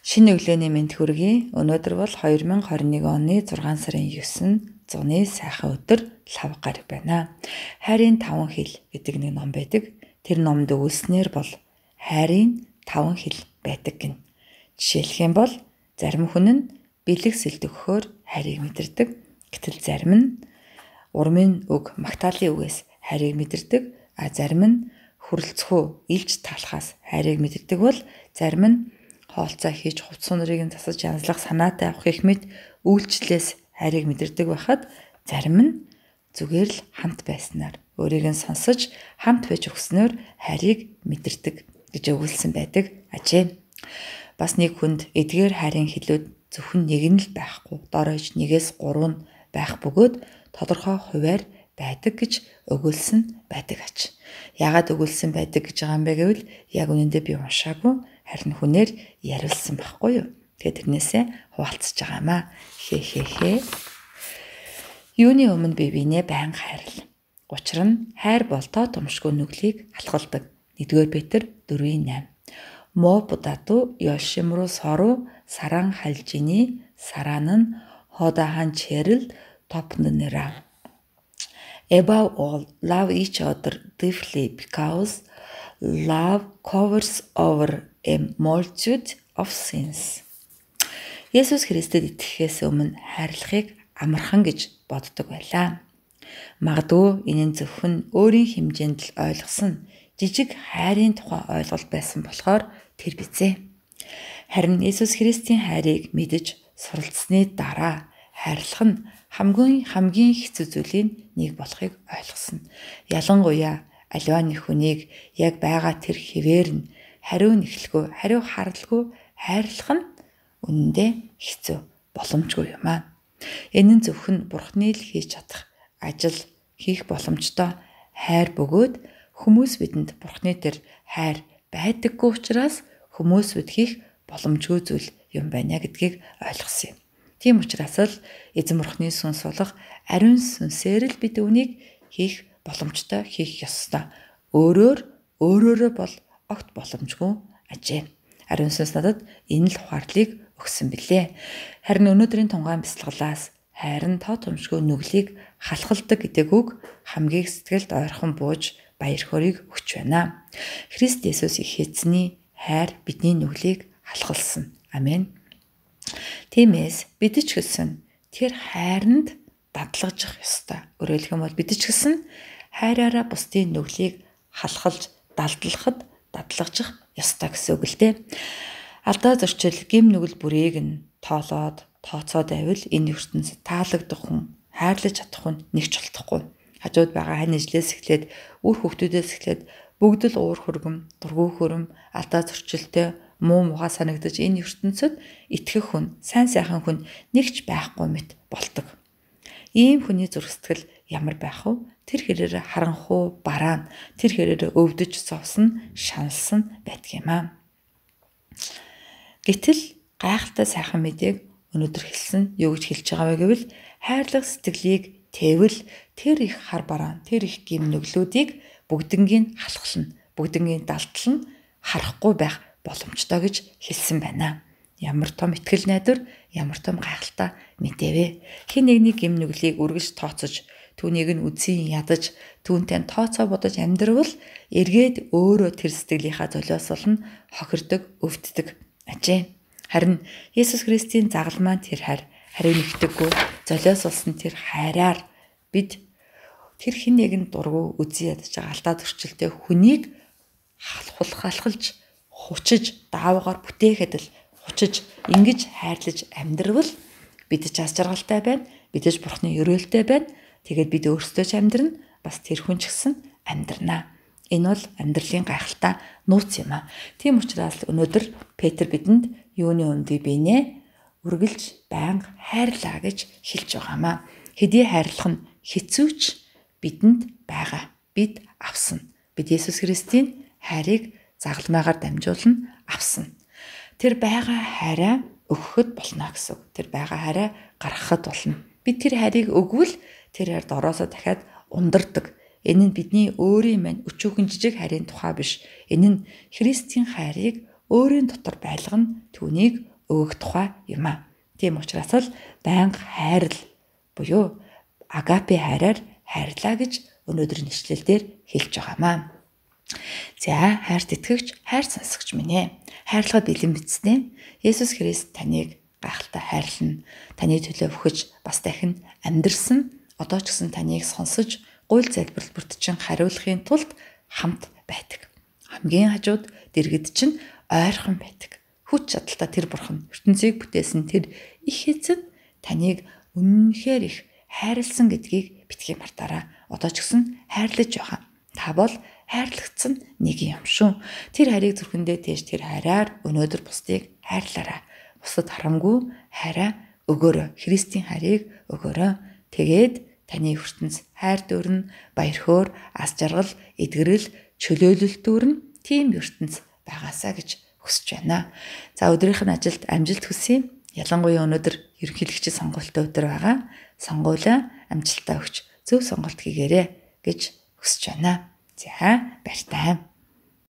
Шинэ өглөөний мэнд хүргэе. Өнөөдөр бол 2021 оны 6 сарын 9 зуны сайхан өдөр лав гараг байна. Хайрын 5 хил гэдэг нэг ном байдаг. Тэр номд өгүүлснээр бол хайрын 5 хил байдаг гин. Жишээлх юм бол зарим хүн нь бэлэг сэлд өгөхөөр хайрыг мэдэрдэг. Гэтэл зарим нь урмын үг магтаалын үгээс хайрыг мэдэрдэг. А зарим нь хүрлцхүү илж талахаас хайрыг мэдэрдэг бол зарим нь хоолцоо хийж хувцс нарыг нь засаж янзлах санаатай авах их мэд үйлчлээс хайрыг мэдэрдэг байхад зарим нь зүгээр л хамт байснаар өөрийг нь сонсож хамт байж өгснөөр хайрыг мэдэрдэг гэж өгүүлсэн байдаг ажээ. Бас нэг хүнд эдгээр хайрын хилүүд зөвхөн нэг нь л байхгүй, дорож 1-3 нь байх бөгөөд тодорхой хуваар байдаг гэж өгүүлсэн байдаг аж. Яагаад өгүүлсэн байдаг гэж байгаа юм бэ гэвэл яг үнэндээ би уншаагүй, харин хүнээр яриулсан байхгүй юу. Тэгээд тэрнээсээ хуваалцаж байгаамаа. Хээ. Юуны өмнө би бинээ байнга хайрлаа. Учир нь хайр бол тоо томшгүй нүглийг халахалдаг. 1-р Петр 4:8. Мо будату ёшимру сору саран халжини саранын ходахан черл топнынера. Above all, love each other deeply because love covers over a multitude of sins. Есүс Христэд итгэхээс өмнө хайрлахыг амархан гэж боддог байлаа. Магадгүй энэ нь зөвхөн өөрийн хэмжээнд л ойлгосон жижиг хайрын тухай ойлголт байсан болохоор тэр бизээ. Харин Есүс Христийн хайрыг мэдэж суралцсны дараа хайрлах нь хамгийн хэцүү зүйлийн нэг болохыг ойлгосон. Ялангуяа аливаа нэг хүнийг яг байгаа тэр хэвээр нь хариу нэхлэхгүй, хариу харлгүй хайрлах нь үнэндээ хэцүү, боломжгүй юм аа. Энэ нь зөвхөн Бурхны л хийж чадах ажил хийх боломжтой хайр бөгөөд хүмүүс бидэнд Бурхны тэр хайр байдаггүй учраас хүмүүс бид хийх боломжгүй зүйл юм байна гэдгийг ойлгосон юм. Тийм учраас л эзэн Бурхны сүнс болох ариун сүнсээр л бид үүнийг хийх боломжтой, хийх ёстой. Өөрөөрөө бол огт боломжгүй ажээ. Ариун сүнс надад энэ л ухаарлыг өгсөн билээ. Харин өнөөдрийн тунгаан бяцлаглаас хайрын тоо томшгүй нүглийг халахалдаг гэдэг үг хамгийн сэтгэлд ойрхон бууж баяр хөөргийг өгч байна. Христ Есүс их эзний хайр бидний нүглийг халахалсан. Амен. Тиймээс бид ч гэсэн тэр хайранд дадлагжих ёстой. Өөрөөр хэлбэл бид ч гэсэн хайраараа бусдын нүглийг халахалж, далдлахад дадлагжих ёстой гэсэн үг л дээ. Алдаа зөрчил гим нүгэл бүрийг нь тооцоод байвал энэ ертөнцид таалагдах хүн, хайрлаж чадах хүн нэг ч болтохгүй. Хажууд байгаа хань ижлээс эхлээд үр хөвгтүүдээс эхлээд бүгд л уур хөргөм, дургүй хөрөм, алдаа зөрчилтэй муу муха санагдаж энэ ертөнцид итгэх хүн, сайн сайхан хүн нэгч байхгүй мэт болдог. Ийм хүний зүрх сэтгэл ямар байх вэ? Тэр хэрээр харанхуу, бараан, тэр хэрээр өвдөж зовсон, шаналсан байдаг юм аа. Гэтэл гайхалтай сайхан мэдээг өнөөдөр хэлсэн юу гэж хэлж байгаа вэ гэвэл хайрлах сэтгэлийг тэвэл тэр их хар бараан, тэр их гим нүглүүдийг бүгднгийн халахлна, бүгднгийн далдлан харахгүй байх боломжтой гэж хэлсэн байна. Ямар том итгэл найдвар, ямар том гайхалтай мэдээ вэ? Хэн нэгний гим нүглийг үргэлж тооцож, түүнийг нь үзэн ядаж, түүнтэй тооцоо бодож амьдрвал эргээд өөрөө тэр сэтгэлийнхаа золиос болно хохирдог, өвддөг ажээ. Харин Есүс Христийн загалмаан тэр хайр, хариу нэгтэггүй, золиос болсон тэр хайраар бид тэр хэн нэгэн дургу үзэн ядаж байгаа алдаа зөрчилтэй хүнийг халахалж хучиж даавгаар бүтээхэд л хучиж ингэж хайрлаж амьдрвал бид ч аз жаргалтай байна, бид ч Бурхны өрөөлтэй байна. Тэгээд бид өөрсдөө ч амьдрна, бас тэр хүн ч гэсэн амьдрнаа. Энэ бол амьдралын гайхалтай нууц юм аа. Тийм учраас өнөөдөр Петр бидэнд юуны өмнө бинээ үргэлж байнга хайрлаа гэж хэлж байгаамаа. Хэдий хайрлах нь хэцүүч бидэнд байгаа. Бид авсан. Бид Есүс Христийн хайрыг загалмаагаар дамжуулан авсан. Тэр байгаа хайраа өгөхөд болно гэсэн. Тэр байгаа хайраа гаргахад болно. Бид тэр хайрыг өгвөл тэр хайрд ороосоо дахиад ундардаг. Энэ нь бидний өөрийн мань өчүүхэн жижиг хайрын тухай биш. Энэ нь Христийн хайрыг өөрийн дотор байлгана, түүнийг өгөх тухай юм аа. Тийм учраас л байнга хайрл буюу агапе хайраар хайрлаа гэж өнөөдрийн ишлэлдэр хэлж байгаамаа. За, хайрт итгэгч, хайр сонсогч минь ээ. Хайрлахад бэлэн бичсэн. Есүс Христ таныг гайхалтай хайрлана. Таны төлөө өгч бас дахин амьдрсан. Одоо ч гэсэн таныг сонсож, гуйл залбирал бүртчин хариулахын тулд хамт байдаг. Хамгийн хажууд дэргэд чинь ойрхон байдаг. Хүч чадалтай тэр бурхан ертөнцийг бүтээсэн тэр их эзэн таныг үнэнхээр их хайрлсан гэдгийг битгий мартаараа. Одоо ч гэсэн хайрлаж байгаа. Та бол хайрлагдсан нэг юм шүү. Тэр хайрыг зүрхэндээ тээж тэр хайраар өнөөдөр бусдыг хайрлаарай. Бусдад харамгүй хайраа өгөөрэй. Христийн хайрыг өгөөрэй. Тэгээд таны ертөнц хайр дүүрэн, баяр хөөр, ас жаргал, эдгэрэл, чөлөөлөлт дүүрэн тийм ертөнц байгаасаа гэж хүсэж байна. За, өдрийнх нь ажилд амжилт хүсье. Ялангуяа өнөөдөр ерөнхийлөгчийн сонгуультай өдөр байгаа. Сонгуулаа амжилтаа өгч зөв сонголт хийгээрэй гэж хүсэж байна. За, баяртай.